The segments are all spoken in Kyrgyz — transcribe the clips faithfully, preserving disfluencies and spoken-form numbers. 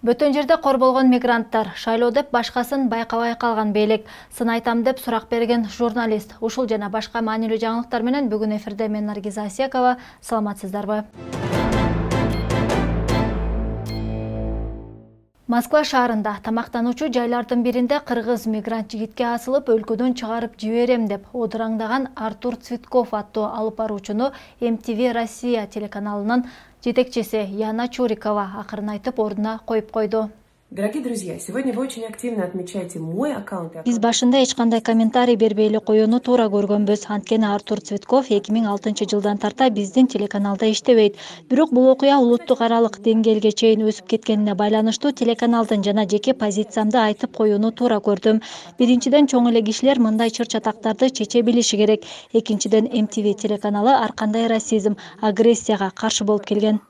Бөтөн жерде кор болгон мигранттар, шайлоо деп башкасын байкабай калган бийлик, сын айтам деп сурак берген журналист. Ушул жана башка маанилүү жаңылыктар менен бүгүн эфирде мен Наргиза Асиякова. Саламатсыздарбы? Москва шаарында тамактануучу жайлардын биринде кыргыз мигрант жигитке асылып, өлкөдөн чыгарып жиберем деп одураңдаган Артур Цветков аттуу алып баруучуну эм ти ви Россия телеканалынын жетекчиси Яна Чурикова акырын айтып ордуна коюп койду. Дорогие друзья, сегодня вы очень активно отмечаете мой аккаунт. Биз башында эч кандай комментарий бербейли коюуну туура көргөнбүз. Анткени Артур Цветков эки миң алтынчы жылдан тарта биздин телеканалда иштебейт. Бирок бул окуя улуттук аралык деңгээлге чейин өсүп кеткенине байланыштуу телеканалдын жана жеке позициямды айтып коюуну туура көрдүм. Биринчиден, чоң эле кишилер мындай чыр-чатактарды чече билиши керек. Экинчиден, эм ти ви телеканалы ар кандай расизм, агрессияга каршы болуп келген.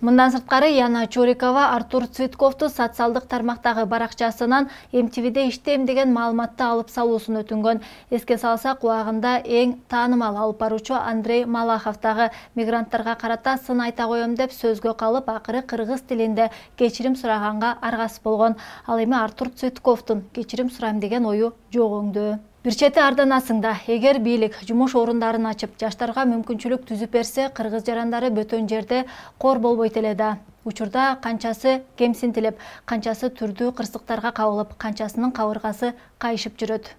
Мындан сырткары Яна Чурикова Артур Цветковду социалдык тармактагы баракчасынан эм ти виде иштейм деген маалыматты алып салуусун өтүнгөн. Эске салсак, убагында эң таанымал алып баруучу Андрей Малахов дагы мигранттарга карата сын айта коем деп сөзгө калып, акыры кыргыз тилинде кечирим сураганга аргасыз болгон. Ал эми Артур Цветковдун кечирим сурайм деген ою жок өңдөө. Бир чети арданасыңда, эгер бийлик жумуш орундарын ачып, жаштарга мүмкүнчүлүк түзүп берсе, кыргыз жарандары бөтөн жерде кор болбойт эле да. Учурда канчасы кемсинтилип, канчасы түрдүү кырсыктарга кабылып, канчасынын кабыргасы кайышып жүрөт.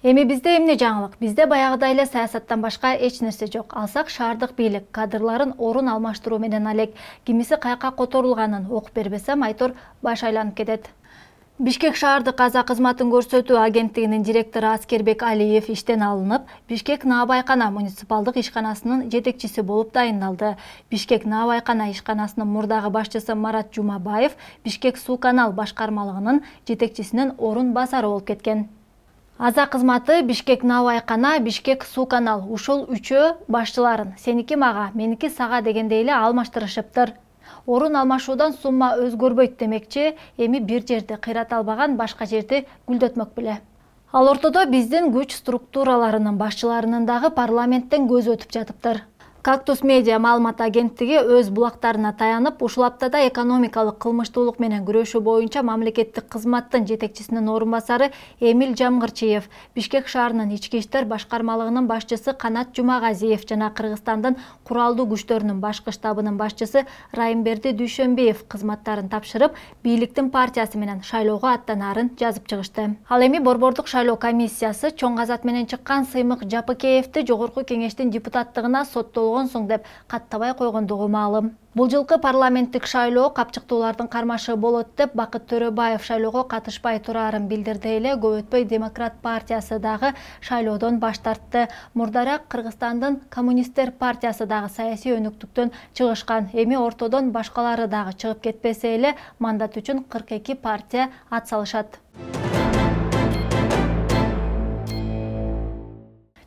Эми бизде эмне жаңылык? Бизде баягыдай эле саясаттан башка эч нерсе жок. Алсак, шаардык бийлик кадрларын орун алмаштыруу менен алек. Кимиси кайка которулганын окуп бербесем, айтор баш айланып кетет. Бишкек шаардык каза кызматын көрсөтүү агенттигинин директору Аскербек Алиев иштен алынып, Бишкек Наабайкана муниципалдык ишканасынын жетекчиси болуп дайындалды. Бишкек Наабайкана ишканасынын мурдагы башчысы Марат Жумабаев Бишкек суу канал башкармалыгынын жетекчисинин орун басары болуп кеткен. Аза кызматы Бишкек Наабайкана, Бишкек суу канал ушул үчөө башчыларын сеники мага, меники сага дегендей эле алмаштырышыптыр. Орун алмашуудан сумма өзгөрбөйт демекчи, эми бир жерди кыйрата албаган башка жерди гүлдөтмөк беле. Ал ортодо биздин күч структураларынын башчыларынын дагы парламенттен көзү өтүп жатыптыр. Кактус медиа маалымат агенттиги өз булактарына таянып, ушул аптада экономикалык кылмыштуулук менен күрөшүү боюнча мамлекеттик кызматтын жетекчисинин орун басары Эмил Жамгырчиев, Бишкек шаарынын ички иштер башкармалыгынын башчысы Канат Жумагазиев жана Кыргызстандын куралдуу күчтөрүнүн башкы штабынын башчысы Райымберди Дүйшөнбиев кызматтарын тапшырып, бийликтин партиясы менен шайлоого аттанаарын жазып чыгышты. Ал эми борбордук шайлоо комиссиясы чоң казат менен чыккан Сыймык Жапыкеевди жогорку кеңештин депутаттыгына соттолгон соң деп каттабай койгондугу маалым. Бул жылкы парламенттик шайлоо капчыктуулардын кармашы болот деп Бакыт Төрөбаев шайлоого катышпай турарын билдирди эле. Көп өтпөй Демократ партиясы дагы шайлоодон баш тартты. Мурдараак Кыргызстандын Коммунисттер партиясы дагы саясий өнүктүктөн чыгышкан. Эми ортодон башкалары дагы чыгып кетпесе эле, мандат үчүн кырк эки партия ат салышат.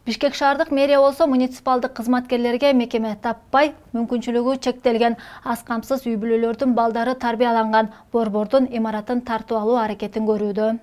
Бишкек шаардык мэрия болсо муниципалдык кызматкерлерге мекеме таппай, мүмкүнчүлүгү чектелген аз камсыз үй бүлөлөрдүн балдары тарбияланган борбордун имаратын тартып алуу аракетин көрүүдө.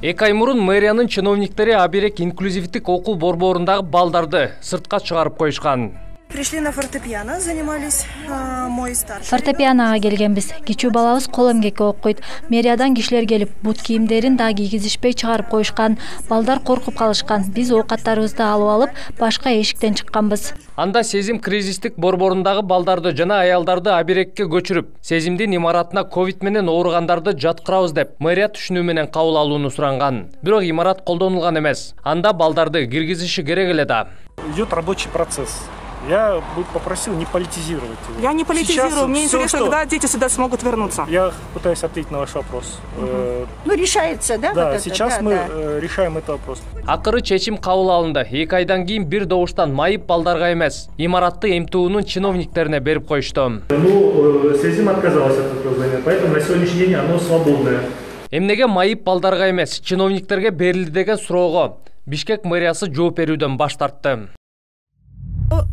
Эки ай мурун мэриянын чиновниктери Аберек инклюзивдик окуу борборундагы балдарды сыртка чыгарып коюшкан. Пришли на фортепиано, занимались а, мой старший. Фортепианоға келгенбиз. Кичүү балабыз кол эмгекке окуйт. Мэриядан кишилер келип, бут кийимдерин да кийгизишпей чыгарып коюшкан. Балдар коркуп калышкан. Биз оокаттарыбызды алып алып, башка эшиктен чыкканбыз. Анда Сезим кризистик борборундагы балдарды жана аялдарды Аберекке көчүрүп, Сезимдин имаратына ковид менен ооругандарды жаткырабыз деп мэрия түшүнүү менен кабыл алууну суранган. Бирок имарат колдонулган эмес. Анда балдарды киргизиши керек эле да. Идет рабочий процесс. Я бы попросил не политизировать. Я не политизирую. Сейчас Мне все, интересно, что... когда дети сюда смогут вернуться. Я пытаюсь ответить на ваш вопрос. Угу. Ну, решается, да? Да, вот сейчас это, мы да, да. решаем этот вопрос. Акыры чечим кабыл алынды. Эки айдан кийин бир добуштан майып балдарга эмес, имаратты эм тэ унун чиновниктерине берип коюшту. Ну, Сезим отказалась от этого здания, поэтому на сегодняшний день оно свободное. Эмнеге майып балдарга эмес, чиновниктерге берилди деген суроого Бишкек мэриясы жооп берүүдөн баш тартты.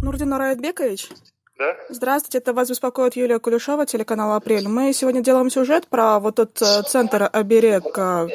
Нурдин Араетбекович, Да? Здравствуйте, это вас беспокоит Юлия Кулешова, телеканал «Апрель». Мы сегодня делаем сюжет про вот тот э, центр «Оберег». э,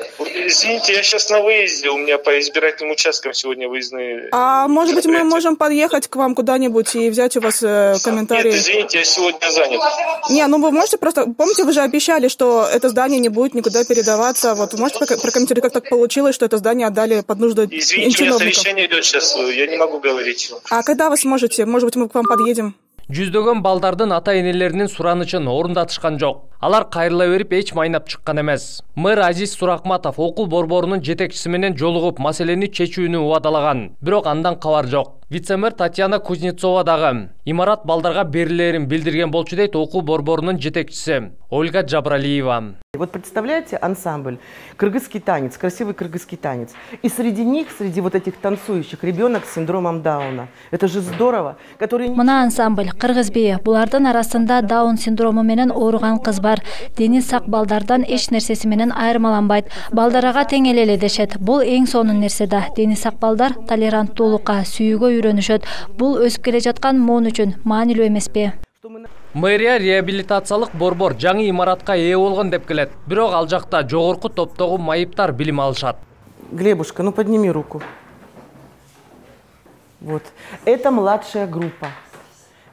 Извините, я сейчас на выезде, у меня по избирательным участкам сегодня выездные. А может быть, мы мероприятия. можем подъехать к вам куда-нибудь и взять у вас э, комментарии? Нет, извините, я сегодня занят. Не, ну вы можете просто... Помните, вы же обещали, что это здание не будет никуда передаваться. Вот вы можете пока- прокомментировать, как так получилось, что это здание отдали под нужды Извините, у меня чиновников? совещание идет сейчас, я не могу говорить. А когда вы сможете? Может быть, мы к вам подъедем? Жүздөгөн балдардын ата-энелеринин суранычын орундатышкан жок. Алар кайрыла берип эч майнап чыккан эмес. Мэр Азиз Суракматов окуу борборунун жетекчиси менен жолугуп маселени чечүүнү убадалаган. Бирок андан кабар жок. Вице-мэр Татьяна Кузнецова дагы имарат балдарга берилерин билдирген болчу дейт окуу борборунун жетекчиси Ольга Джабралиева. Вот представляете ансамбль, кыргызский танец, красивый кыргызский танец. И среди них, среди вот этих танцующих, ребенок с синдромом Дауна. Это же здорово. Который... Мына ансамбль кыргыз бии. Булардын арасында Даун синдрому менен ооруган кыз бар. Дени сак балдардан эч нерсеси менен айырмаланбайт. Балдарга тең эле дешет. Бул эң сонун нерсе да. Дени сак балдар толеранттуулукка, сүйүүгө үйрөнүшөт. Бул өсүп келе жаткан моон үчүн маанилүү эмеспи? Мэрия реабилитациялык борбор жаңы имаратка ээ болгон деп келет. Бирок ал жакта жогорку топтогу майыптар билим алышат. Глебушка, ну подними руку. Вот. Это младшая группа.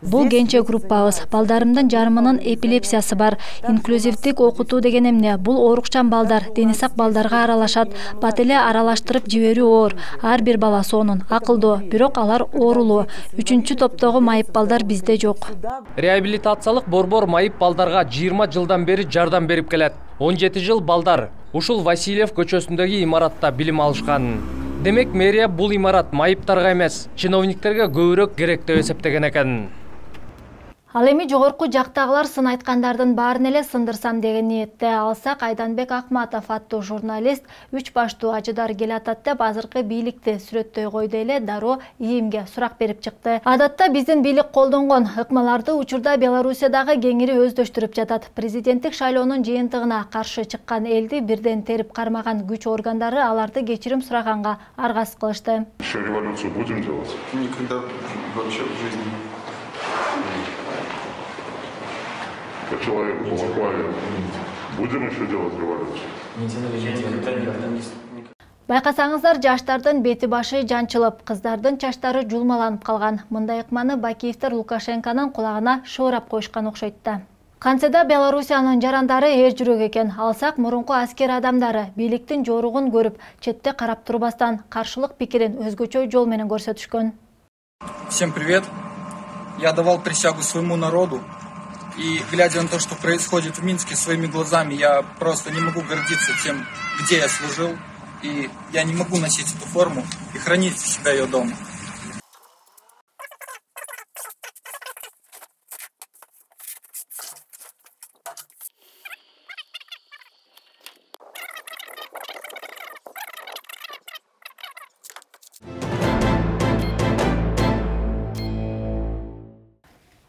Бул кенче группабыз. Балдарымдын жарымынын эпилепсиясы бар. Инклюзивдик окутуу деген эмне? Бул оорукчан балдар, дени сак балдарга аралашат. Бат эле аралаштырып жиберүү оор. Ар бир бала сонун, акылдуу, бирок алар оорулуу. Үчүнчү топтогу майып балдар бизде жок. Реабилитациялык борбор майып балдарга жыйырма жылдан бери жардам берип келет. он жети жыл балдар ушул Васильев көчөсүндөгү имаратта билим алышкан. Демек мэрия бул имарат майыптарга эмес, чиновниктерге көбүрөөк керек деп эсептеген экен. Ал эми жогорку жактагылар сын айткандардын баарын эле сындырсам деген ниетте. Алсак Айданбек Акматов аттуу журналист үч баштуу ажыдар келатат деп азыркы бийликти сүрөттөй койду эле дароо ИИМге сурак берип чыкты. Адатта биздин бийлик колдонгон ыкмаларды учурда Белоруссиядагы кеңири өздөштүрүп жатат. Президенттик шайлоонун жыйынтыгына каршы чыккан элди бирден терип кармаган күч органдары аларды кечирим сураганга аргасыз кылышты. Еще революцию будем делать? Никогда вообще в жизни. По человеку полаквали. Будем еще делать революцию? Байкасаңыздар, жаштардын бети башы жанчылып, кыздардын чачтары жулмаланып калган. Мындай ыкманы бакиевтер Лукашенконун кулагына шоорап коюшкан окшойт да. Кантседа Белоруссиянын жарандары эр жүрөк экен. Алсак мурунку аскер адамдары бийликтин жоругун көрүп, четте карап турбастан каршылык пикирин өзгөчө жол менен көрсөтүшкөн. Всем привет. Я давал присягу своему народу. И глядя на то, что происходит в Минске своими глазами, я просто не могу гордиться тем, где я служил. И я не могу носить эту форму и хранить в себя ее дома.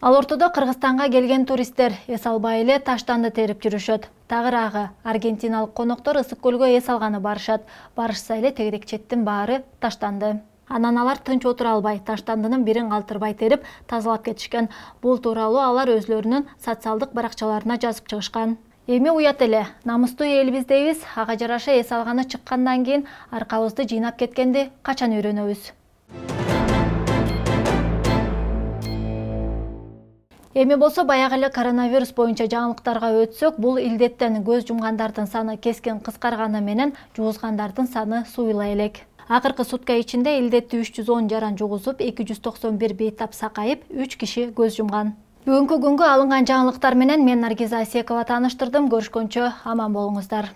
Ал ортодо Кыргызстанга келген туристтер эс албай эле таштанды терип жүрүшөт. Тагыраагы аргентиналык коноктор ысык көлгө эс алганы барышат. Барышса эле тегерек четтин баары таштанды. Анан алар тынч отура албай, таштандынын бирин калтырбай терип тазалап кетишкен. Бул тууралуу алар өзлөрүнүн социалдык баракчаларына жазып чыгышкан. Эми уят эле, намыстуу элибиз дейбиз, ага жараша эс алганы чыккандан кийин аркабызды жыйнап кеткенди качан үйрөнөбүз? Эми болсо баягы эле коронавирус боюнча жаңылыктарга өтсөк, бул илдеттен көз жумгандардын саны кескин кыскарганы менен жугузгандардын саны суйла элек. Акыркы сутка ичинде илдетти үч жүз он жаран жугузуп, эки жүз токсон бир бейтап сакайып, үч киши көз жумган. Бүгүнкү күнгө алынган жаңылыктар менен мен Наргиза Асекова тааныштырдым. Көрүшкөнчө аман болуңуздар.